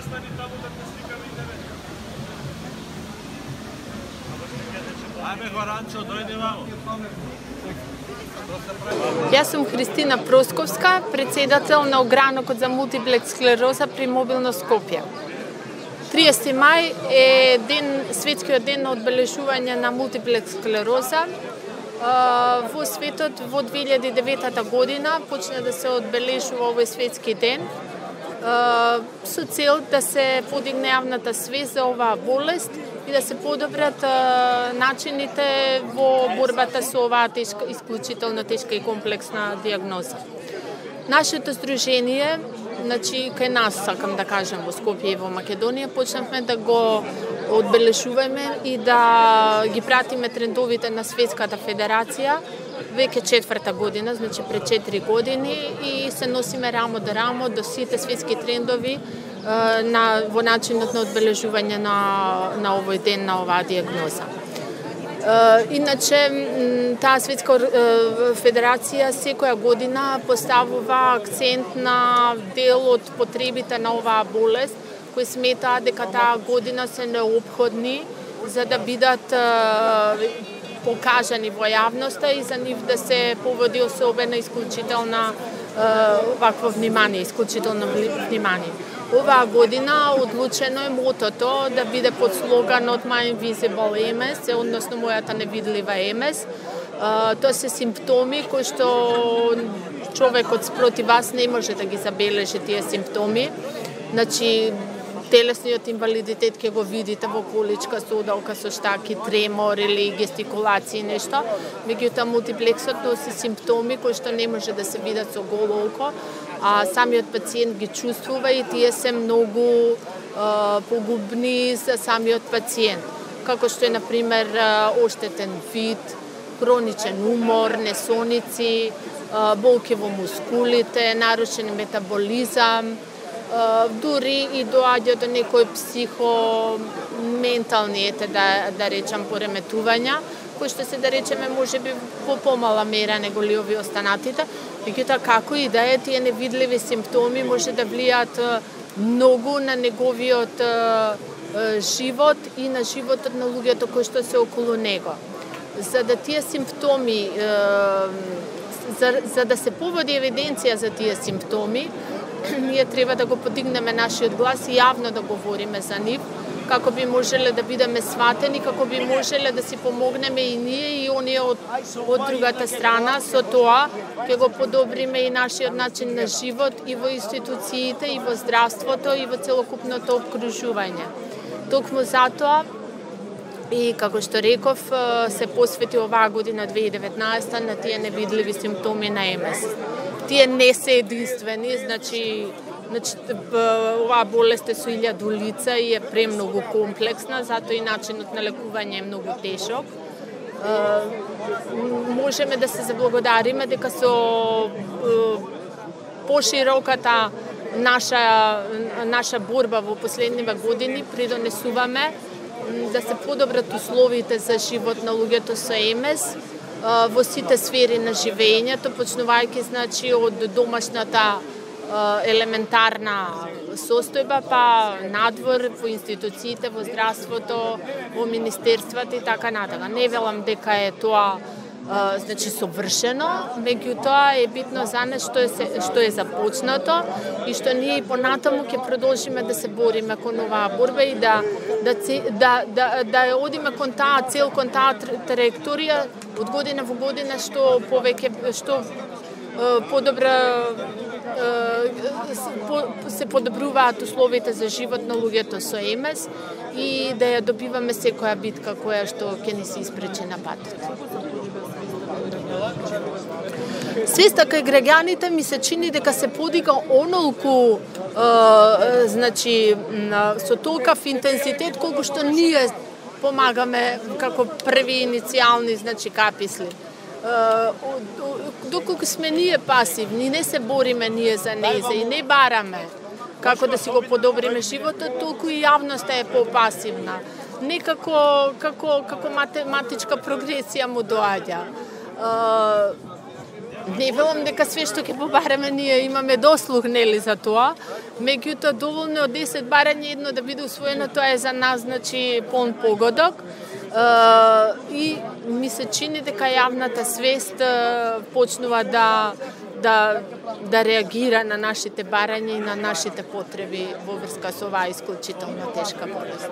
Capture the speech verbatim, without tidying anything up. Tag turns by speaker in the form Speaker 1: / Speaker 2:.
Speaker 1: Застани таму да те сликаме и тебе. Ајме Горанчо, дојди вамо.
Speaker 2: Јас сум Христина Просковска, председател на огранокот за мултиплекс склероза при Мобилно Скопје. триесети мај е ден, светскиот ден на одбележување на мултиплекс склероза. Во светот во две илјади и девета година почна да се одбележува овој светски ден со цел да се подигне јавната свест за оваа болест и да се подобрат начините во борбата со оваа тешка, исклучително тешка и комплексна диагноза. Нашето здружение, значи кај нас, сакам да кажам, во Скопје и во Македонија, почнавме да го одбележуваме и да ги пратиме трендовите на Светската федерација веќе четврта година, значи пред четири години, и се носиме рамо до рамо до сите светски трендови на, во начинот на одбележување на, на овој ден, на оваа диагноза. Иначе, таа Светска федерација секоја година поставува акцент на дел од потребите на оваа болест, кои сметаат дека таа година се неопходни за да бидат покажани во јавноста и за нив да се поводи особена исклучителна вакво внимание, исклучително внимание. Оваа година одлучено е мотото да биде под слоганот My Invisible Ем Ес, односно мојата невидлива Ем Ес. Тоа се симптоми кои што човекот спроти вас не може да ги забележи тие симптоми. Значи, телесниот инвалидитет ќе го видите во количка, со удалка, со штаки, тремор или гестикулација нешто. Меѓутоа, мултиплексот носи симптоми кои што не може да се видат со голо око, а самиот пациент ги чувствува и тие се многу е, погубни за самиот пациент. Како што е, например, оштетен вид, хроничен умор, несоници, болки во мускулите, нарушен метаболизам, дури и доаѓа до некои психоментални, ете да, да речам, пореметувања, кои што се, да речеме, може би по помала мера него ли овие останатите. Меѓутоа, како и да е, тие невидливи симптоми може да влијаат многу на неговиот живот и на животот на луѓето кои што се околу него. За да тие симптоми, за, за да се поводи евиденција за тие симптоми, ние треба да го подигнеме нашиот глас и јавно да говориме за нив, како би можеле да бидеме сватени, како би можеле да си помогнеме и ние и оние од, од другата страна, со тоа ќе го подобриме и нашиот начин на живот и во институциите, и во здравството, и во целокупното обкружување. Токму затоа, и како што реков, се посвети оваа година две илјади и деветнаесета на тие невидливи симптоми на Ем Ес. Тие не се единствени, значи, значи оваа болест е со илјаду лица и е премногу комплексна, затоа и начинот на лекување е многу тешок. Можеме да се заблагодариме дека со пошироката наша наша борба во последниве години придонесуваме да се подобрат условите за живот на луѓето со Ем Ес во сите сфери на живењето, почнувајќи, значи, од домашната елементарна состојба, па надвор, во институциите, во здравството, во министерствата и така натака. Не велам дека е тоа значи совршено, меѓутоа е битно за нас што е што е започнато и што ние и понатаму ќе продолжиме да се бориме кон оваа борба и да да да да, да одиме кон таа цел, кон таа траекторија од година во година, што повеќе што подобра се подобруваат условите за живот на луѓето со Ем Ес и да ја добиваме секоја битка која што ќе ни се испречи на патот. Свеста кај граѓаните ми се чини дека се подига онолку, е, значи, со толкав интензитет колку што ние помагаме како први иницијални, значи, каписли. Доколку сме ние пасивни, не се бориме ние за незе и не бараме како да си го подобриме животот, толку и јавноста е попасивна. Не како, како, како математичка прогресија му доаѓа. Не велам дека све што ќе побараме ние имаме дослух нели за тоа, меѓутоа доволно од десет барања едно да биде усвоено, тоа е за нас значи полн погодок. Uh, и ми се чини дека јавната свест uh, почнува да, да, да реагира на нашите барања и на нашите потреби во врска со оваа исклучително тешка болест.